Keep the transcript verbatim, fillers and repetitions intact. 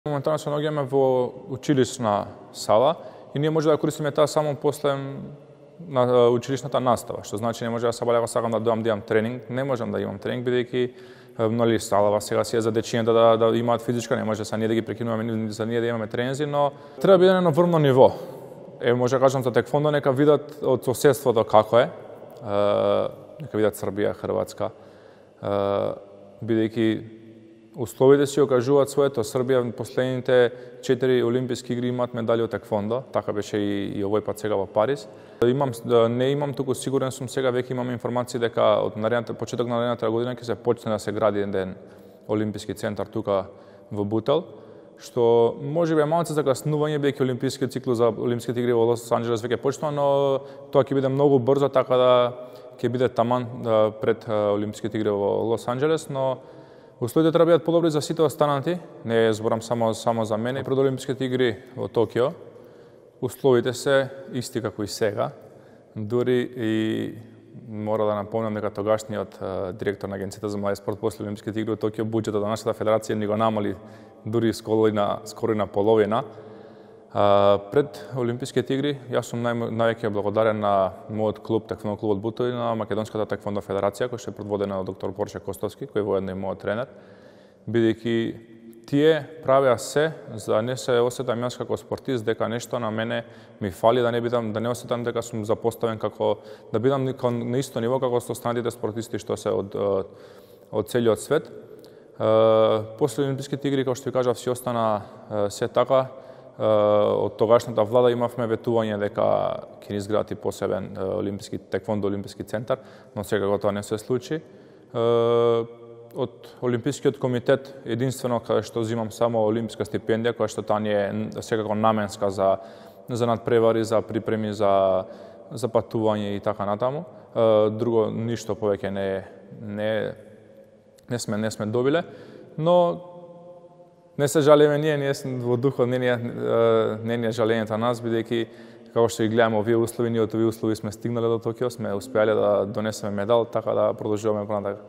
Моментално се наоѓаме во училишна сала и ние може да користиме таа само после на училишната настава, што значи не може да сабале ако сакам да дојам да имам тренинг, не можам да имам тренинг бидејќи нели салава сега си е за дечињата да да имаат физичка, не може са ние да ги прекинуваме за ние да имаме тренинзи, но треба биде на врвно ниво. Е може да кажам за теквондо нека видат од соседството како е. Нека видат Србија, Хрватска. Бидејќи условите си окажуваат своето. Србија последните четири олимписки игри имаат медали од теквондо, така беше и, и овој пат сега во Париз. Имам не имам туку сигурен сум сега веќе имам информации дека од наредната почеток на наредната година ќе се почне да се гради еден олимписки центар тука во Бутел, што можеби е малку закаснување бидејќи олимпискиот циклус за олимписките игри во Лос Анџелес веќе почнува, но тоа ќе биде многу брзо, така да ќе биде таман пред олимписките игри во Лос Анџелес, но условите треба да бидат подобри за сите останати, не зборам само само за мене. Пред олимписките игри во Токио, условите се исти како и сега. Дури и мора да напомнам дека тогашниот директор на Агенцијата за млади спорт после олимписките игри во Токио буџетот на нашата федерација ни го намали дури скоро и на скоро и на половина. Пред олимписките игри јас сум нај, највеќе благодарен на мојот клуб, теквондо клубот Бутел, и на Македонската теквондо федерација, која е предводена од доктор Борче Костовски, кој е воедно и мојот тренер, бидејќи тие правеа се за да не се осетам јас како спортист дека нешто на мене ми фали, да не бидам да не осетам дека сум запоставен како да бидам на исто ниво како со останатите спортисти што се од од целиот свет. После олимписките игри, како што ви кажав, си остана се така. Од тогашната влада имавме ветување дека ќе ни изградат посебен олимписки теквондо олимписки центар, но секако тоа не се случи. Од олимпискиот комитет единствено каде што земам само олимписка стипендија, која што таа ни е секако наменска за за надпревари, за припреми, за за патување и така натаму. Друго ништо повеќе не не не сме не сме добиле, но не се жалиме ние, ние во духот не не не не жалењето на нас, бидејќи како што и гледаме овие услови, ние од овие услови сме стигнале до Токио, сме успеале да донесеме медал, така да продолжуваме понатака.